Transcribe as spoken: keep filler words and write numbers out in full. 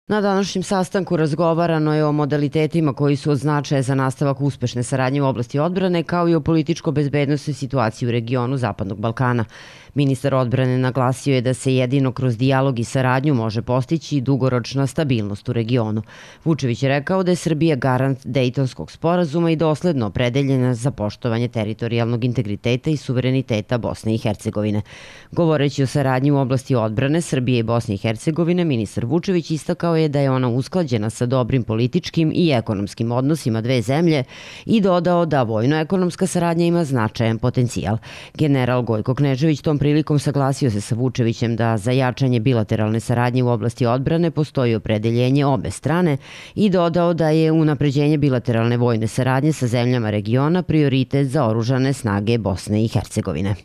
Na današnjem sastanku razgovarano je o modalitetima koji su od značaja za nastavak uspešne saradnje u oblasti odbrane, kao i o političko-bezbednosnoj situaciji u regionu Zapadnog Balkana. Ministar odbrane naglasio je da se jedino kroz dijalog i saradnju može postići dugoročna stabilnost u regionu. Vučević je rekao da je Srbija garant Dejtonskog sporazuma i dosledno opredeljena za poštovanje teritorijalnog integriteta i suvereniteta Bosne i Hercegovine. Govoreći o saradnji u oblasti odbrane Srbije i Bosne i Hercegovine, ministar Vučević istakao je da je ona usklađena sa dobrim političkim i ekonomskim odnosima dve zemlje i dodao da vojno-ekonomska saradnja ima značajan potencijal. General Gojko Knežević tom prilikom saglasio se sa Vučevićem da za jačanje bilateralne saradnje u oblasti odbrane postoji opredeljenje obe strane i dodao da je unapređenje bilateralne vojne saradnje sa zemljama regiona prioritet za oružane snage Bosne i Hercegovine.